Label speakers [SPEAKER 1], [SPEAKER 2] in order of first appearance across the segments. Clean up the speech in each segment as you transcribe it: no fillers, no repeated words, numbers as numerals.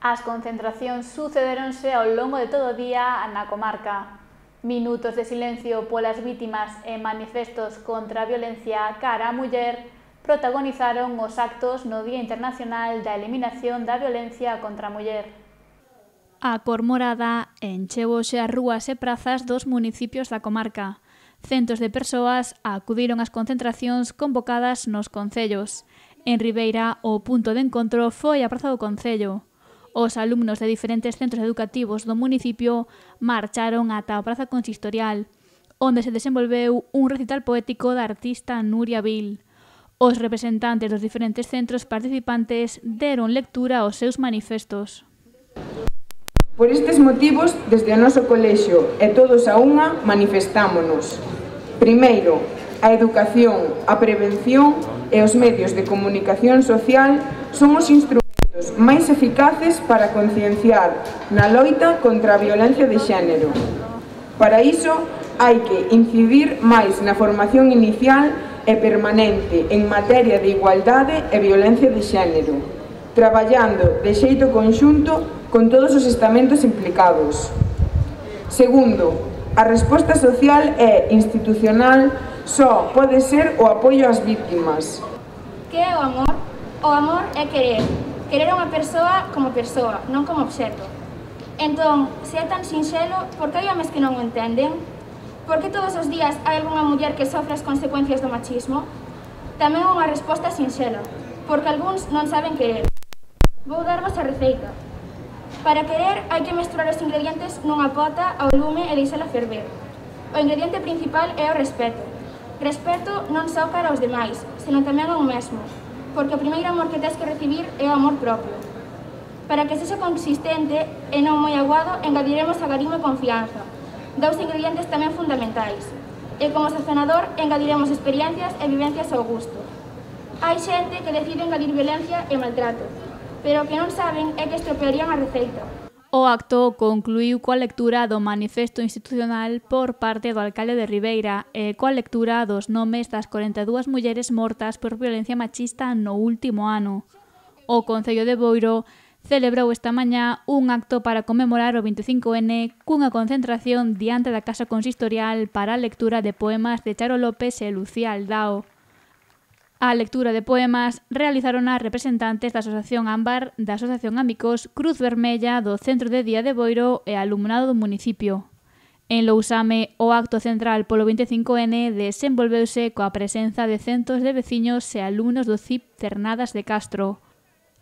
[SPEAKER 1] As concentracións sucederonse ao longo de todo o día na comarca. Minutos de silencio polas vítimas e manifestos contra a violencia cara á muller protagonizaron os actos no Día Internacional da Eliminación da Violencia contra a Muller. A cor morada encheu-se as rúas e prazas dos municipios da comarca. Centos de persoas acudiron ás concentracións convocadas nos concellos. En Ribeira, o punto de encontro foi a Praza do Concello. Os alumnos de diferentes centros educativos do municipio marcharon ata a Praza Consistorial, onde se desenvolveu un recital poético da artista Nuria Vil. Os representantes dos diferentes centros participantes deron lectura aos seus manifestos.
[SPEAKER 2] Por estes motivos, desde o noso colexio e todos a unha, manifestámonos. Primeiro, a educación, a prevención e os medios de comunicación social son os instrumentos máis eficaces para concienciar na loita contra a violencia de xénero. Para iso, hai que incidir máis na formación inicial e permanente en materia de igualdade e violencia de xénero, traballando de xeito conxunto con todos os estamentos implicados. Segundo, a resposta social e institucional só pode ser o apoio ás vítimas.
[SPEAKER 3] Que é o amor? O amor é querer. Querer a unha persoa, non como obxecto. Entón, se é tan sinxelo, por que hai homes que non o entenden? Por que todos os días hai algunha muller que sofre as consecuencias do machismo? Tamén unha resposta sinxela, porque algúns non saben querer. Vou darvos a receita. Para querer hai que mesturar os ingredientes nunha pota ao lume e deixala ferver. O ingrediente principal é o respeto. Respeto non só cara aos demais, senón tamén ao mesmo, porque o primeiro amor que tens que recibir é o amor propio. Para que sexa consistente e non moi aguado, engadiremos agarimo e confianza, dous ingredientes tamén fundamentais. E como sazonador, engadiremos experiencias e vivencias ao gusto. Hai xente que decide engadir violencia e maltrato, pero o que non saben é que estropearían a receita.
[SPEAKER 1] O acto concluíu coa lectura do manifesto institucional por parte do alcalde de Ribeira e coa lectura dos nomes das 42 mulleres mortas por violencia machista no último ano. O Concello de Boiro celebrou esta mañá un acto para conmemorar o 25N cunha concentración diante da Casa Consistorial para a lectura de poemas de Charo López e Lucía Aldao. A lectura de poemas realizaron as representantes da Asociación Ámbar, da Asociación Amigos, Cruz Vermella, do Centro de Día de Boiro e alumnado do municipio. En Lousame, o acto central polo 25N desenvolveuse coa presenza de centos de veciños e alumnos do CIP Cernadas de Castro.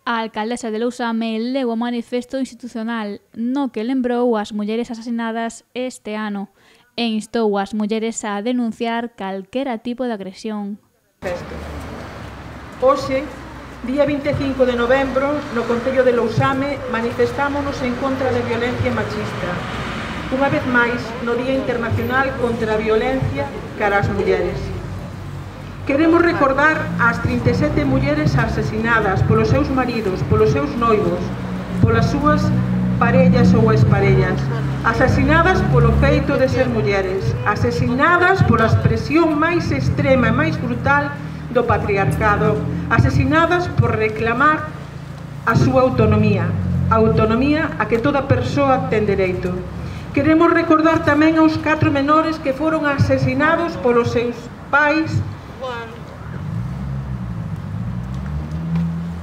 [SPEAKER 1] A alcaldesa de Lousame leu o manifesto institucional no que lembrou as mulleres asasinadas este ano e instou as mulleres a denunciar calquera tipo de agresión.
[SPEAKER 4] Hoxe, día 25 de novembro, no Concello de Lousame, manifestámonos en contra da violencia machista. Unha vez máis, no Día Internacional contra a Violencia cara ás mulleres. Queremos recordar as 37 mulleres asesinadas polos seus maridos, polos seus noivos, polas súas parellas ou exparellas, asesinadas polo feito de ser mulleres, asesinadas pola expresión máis extrema e máis brutal do patriarcado, asesinadas por reclamar a súa autonomía, a autonomía a que toda persoa ten dereito. Queremos recordar tamén aos 4 menores que foron asesinados polos seus pais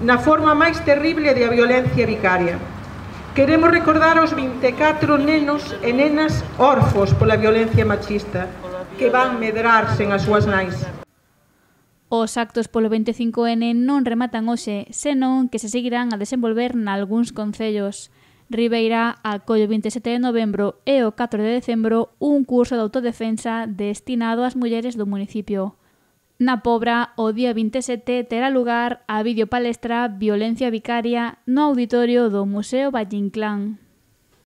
[SPEAKER 4] na forma máis terrible de a violencia vicaria. Queremos recordar aos 24 nenos e nenas órfos pola violencia machista, que van medrar sen as súas nais.
[SPEAKER 1] Os actos polo 25N non rematan hoxe, senón que se seguirán a desenvolver nalgúns concellos. Ribeira acolle o 27 de novembro e o 4 de decembro un curso de autodefensa destinado ás mulleres do municipio. Na Pobra, o día 27 terá lugar a videopalestra Violencia Vicaria no auditorio do Museo Valle Inclán.